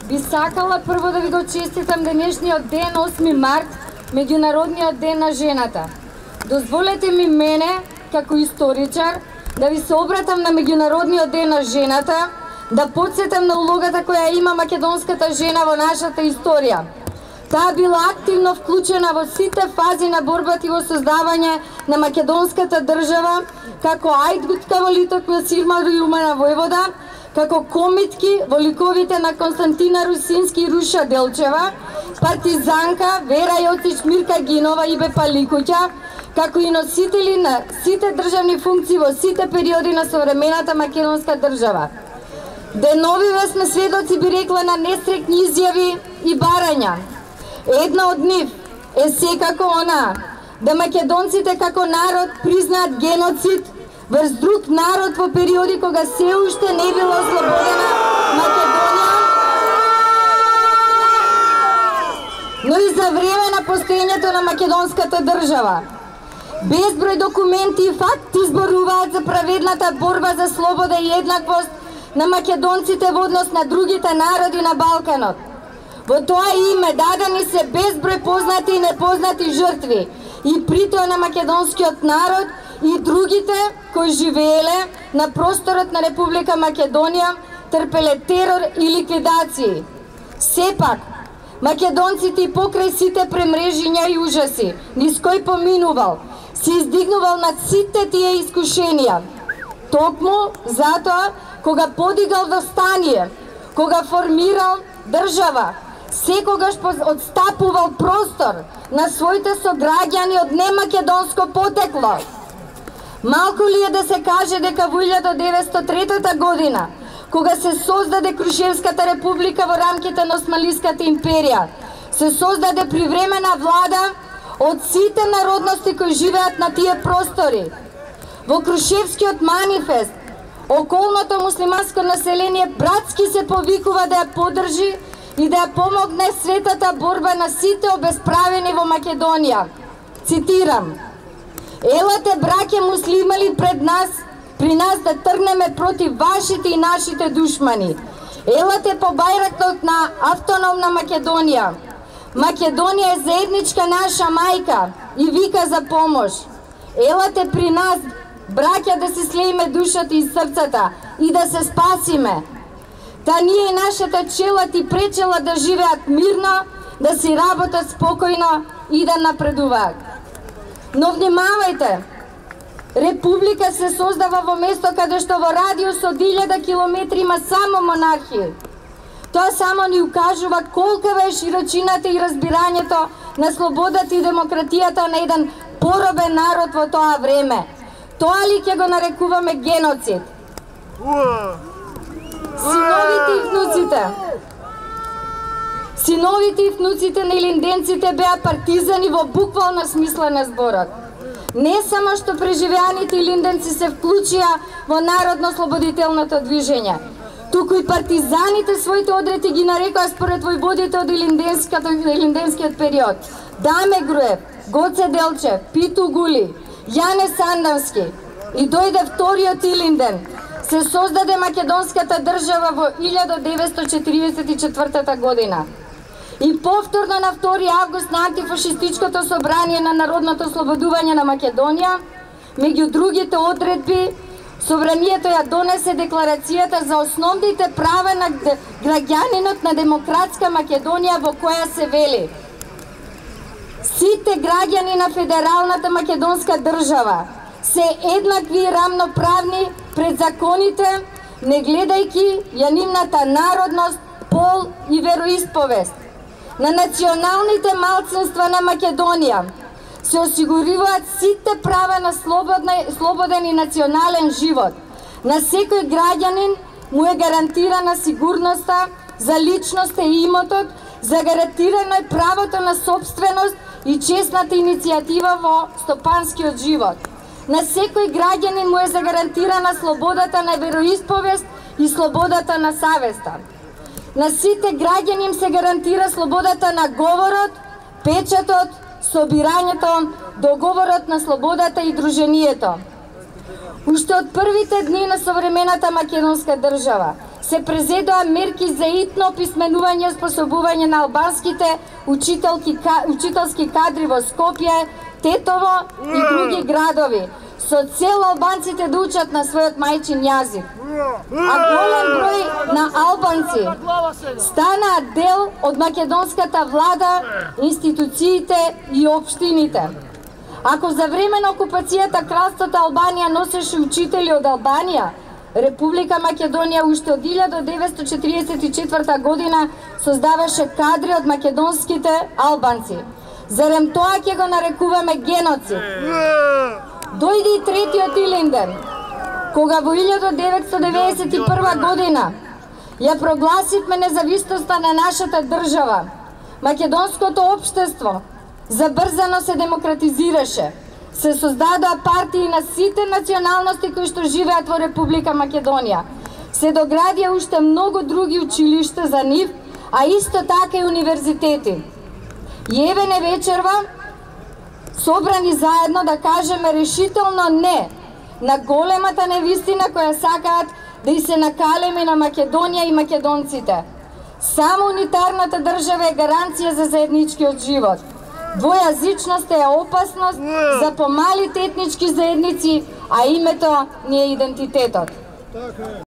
би сакала прво да ви го честитам денешниот ден, 8 март, Меѓународниот ден на жената. Дозволете ми мене, како историчар, да ви се обратам на Меѓународниот ден на жената, да подсетам на улогата која има македонската жена во нашата историја. Таа била активно вклучена во сите фази на борбата и во создавање на македонската држава, како Ајдгутка во Литок на Сирма Рујумана Војвода, како комитки во ликовите на Константина Русински и Руша Делчева, партизанка Вера Јоцич, Мирка Гинова и Бепа Ликуќа, како и носители на сите државни функции во сите периоди на современата македонска држава. Деновиве сме сведоци, би рекла, на нестрекни изјави и барања. Една од нив е секако она да македонците како народ признаат геноцид врз друг народ во периоди кога се уште не била ослободена Македонија, но и за време на постоењето на македонската држава. Безброј документи и факти зборуваат за праведната борба за слобода и еднаквост на македонците во однос на другите народи на Балканот. Во тоа име дадени се безброј познати и непознати жртви и притоа на македонскиот народ и другите кои живееле на просторот на Република Македонија, трпеле терор и ликвидации. Сепак, македонците и покрај сите премрежиња и ужаси, низ кој поминувал, се издигнувал над сите тие искушенија. Токму затоа, кога подигал восстание, кога формирал држава, секогаш отстапувал простор на своите сограѓани од немакедонско потекло. Малку ли е да се каже дека во 1903 година, кога се создаде Крушевската република во рамките на Османлиската империја, се создаде привремена влада од сите народности кои живеат на тие простори. Во Крушевскиот манифест, околното муслиманско население братски се повикува да ја поддржи и да ја помогне светата борба на сите обесправени во Македонија. Цитирам: "Елате, браќе муслимани, при нас да тргнеме против вашите и нашите душмани. Елате по бајракот на автономна Македонија. Македонија е заедничка наша мајка и вика за помош. Елате при нас, браќа, да си слеиме душата и срцата и да се спасиме. Та ние и нашата чела ти пречела да живеат мирно, да си работат спокојно и да напредуваат." Но внимавајте, република се создава во место каде што во радиус од 1000 километри има само монархија. Тоа само ни укажува колкава е широчината и разбирањето на слободата и демократијата на еден поробен народ во тоа време. Тоа ли ќе го нарекуваме геноцид? Синовите и внуците на илинденците беа партизани во буквална смисла на зборот. Не само што преживеаните илинденци се вклучија во народно-слободителното движење, туку и партизаните своите одрети ги нарекоа според војводите од илинденскиот период: Даме Груев, Гоце Делчев, Питу Гули, Јане Сандански. И дојде вториот Илинден. Се создаде македонската држава во 1944 година. И повторно на 2 август на антифашистичкото собрание на Народното ослободување на Македонија, меѓу другите одредби, собранието ја донесе декларацијата за основните права на граѓанинот на демократска Македонија, во која се вели: "Сите граѓани на федералната македонска држава се еднакви и рамноправни пред законите, не гледајќи ја нивната народност, пол и вероисповест. На националните малцинства на Македонија се осигуруваат сите права на слободен и национален живот. На секој граѓанин му е гарантирана сигурноста за личноста и имотот, загарантирано е правото на собственост и честната иницијатива во стопанскиот живот. На секој граѓанин му е загарантирана слободата на вероисповест и слободата на савеста. На сите граѓани им се гарантира слободата на говорот, печатот, собирањето, договорот на слободата и друженијето." Уште од првите дни на современата македонска држава се презедоа мерки за итно писменување и способување на албанските учителски кадри во Скопје, Тетово и други градови, со цел албанците да учат на својот мајчин јазик. А голем број на албанци станаа дел од македонската влада, институциите и општините. Ако за време на окупацијата кралството Албанија носеше учители од Албанија, Република Македонија уште од 1944 година создаваше кадри од македонските албанци. Зарем тоа ќе го нарекуваме геноцид? Дојде и третиот Илинден, кога во 1991 година ја прогласивме независноста на нашата држава. Македонското општество забрзано се демократизираше. Се создадоа партии на сите националности кои што живеат во Република Македонија. Се доградија уште многу други училишта за нив, а исто така и универзитети. И еве не вечерва, собрани заедно да кажеме решително не на големата невистина која сакаат да и се накалеме на Македонија и македонците. Само унитарната држава е гаранција за заедничкиот живот. Двојазичност е опасност за помалите етнички заедници, а името ни е идентитетот.